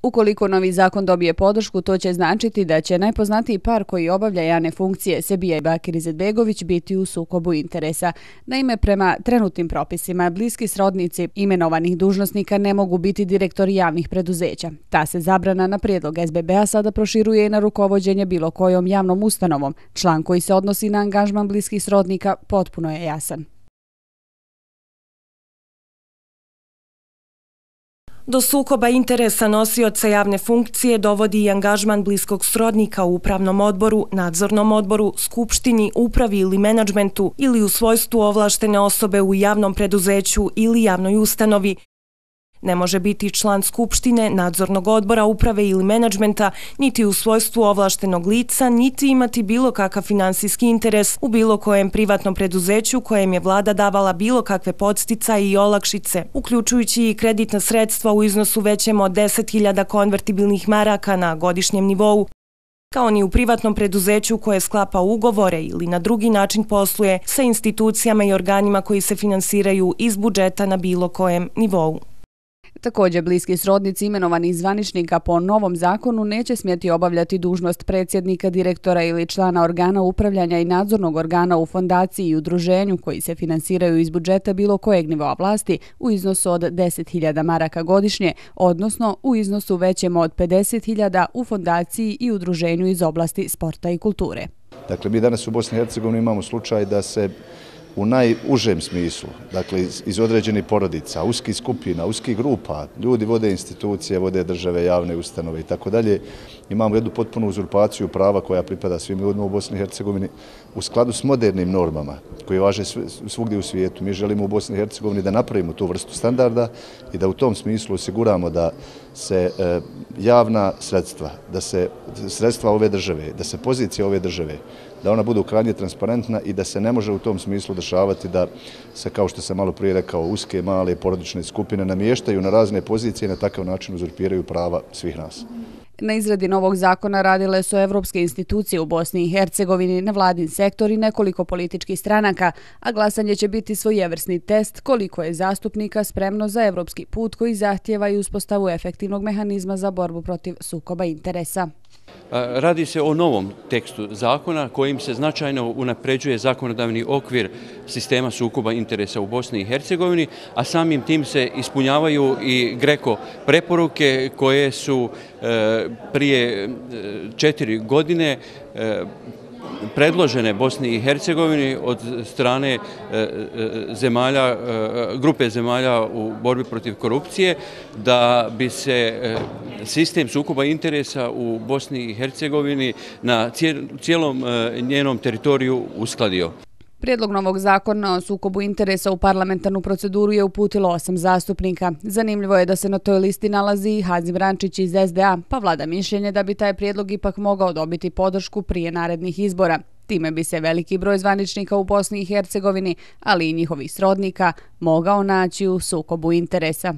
Ukoliko novi zakon dobije podršku, to će značiti da će najpoznatiji par koji obavlja javne funkcije, Sebija i Bakir Izetbegović, biti u sukobu interesa. Naime, prema trenutnim propisima, bliski srodnici imenovanih dužnosnika ne mogu biti direktori javnih preduzeća. Ta se zabrana na prijedlog SBB-a sada proširuje i na rukovođenje bilo kojom javnom ustanovom. Član koji se odnosi na angažman bliskih srodnika potpuno je jasan. Do sukoba interesa nosioca javne funkcije dovodi i angažman bliskog srodnika u upravnom odboru, nadzornom odboru, skupštini, upravi ili menadžmentu ili u svojstvu ovlaštene osobe u javnom preduzeću ili javnoj ustanovi. Ne može biti član skupštine, nadzornog odbora, uprave ili menadžmenta, niti u svojstvu ovlaštenog lica, niti imati bilo kakav finansijski interes u bilo kojem privatnom preduzeću kojem je vlada davala bilo kakve podsticaje i olakšice, uključujući i kreditna sredstva u iznosu većem od 10.000 konvertibilnih maraka na godišnjem nivou, kao ni u privatnom preduzeću koje sklapa ugovore ili na drugi način posluje sa institucijama i organima koji se finansiraju iz budžeta na bilo kojem nivou. Također, bliski srodnici imenovanih zvaničnika po novom zakonu neće smjeti obavljati dužnost predsjednika, direktora ili člana organa upravljanja i nadzornog organa u fondaciji i udruženju koji se finansiraju iz budžeta bilo kojeg nivoa vlasti u iznosu od 10.000 maraka godišnje, odnosno u iznosu većem od 50.000 u fondaciji i udruženju iz oblasti sporta i kulture. Dakle, mi danas u Bosni i Hercegovini imamo slučaj da se u najužem smislu, dakle iz određenih porodica, uskih skupina, uskih grupa, ljudi vode institucije, vode države, javne ustanove i tako dalje. Imamo jednu potpunu uzurpaciju prava koja pripada svim ljudima u Bosni i Hercegovini u skladu s modernim normama koje važe svugdje u svijetu. Mi želimo u Bosni i Hercegovini da napravimo tu vrstu standarda i da u tom smislu osiguramo da se javna sredstva, da se sredstva ove države, da se pozicija ove države, da ona budu krajnje transparentna i da se ne može u tom smislu dešavati da se, kao što sam malo prije rekao, uske, male, porodične skupine namještaju na razne pozicije i na takav način uzurpiraju prava svih nas. Na izradi novog zakona radile su evropske institucije u Bosni i Hercegovini, nevladin sektor i nekoliko političkih stranaka, a glasanje će biti svojevrsni test koliko je zastupnika spremno za evropski put koji zahtijeva i uspostavu efektivnog mehanizma za borbu protiv sukoba interesa. Radi se o novom tekstu zakona kojim se značajno unapređuje zakonodavni okvir sistema sukoba interesa u Bosni i Hercegovini, a samim tim se ispunjavaju i GRECO preporuke koje su prije 4 godine predložene Bosni i Hercegovini od strane grupe zemalja u borbi protiv korupcije, da bi se sistem sukoba interesa u Bosni i Hercegovini na cijelom njenom teritoriju uskladio. Prijedlog novog zakona o sukobu interesa u parlamentarnu proceduru je uputilo 8 zastupnika. Zanimljivo je da se na toj listi nalazi i Hazim Rančić iz SDA, pa vlada mišljenje da bi taj prijedlog ipak mogao dobiti podršku prije narednih izbora. Time bi se veliki broj zvaničnika u Bosni i Hercegovini, ali i njihovih srodnika, mogao naći u sukobu interesa.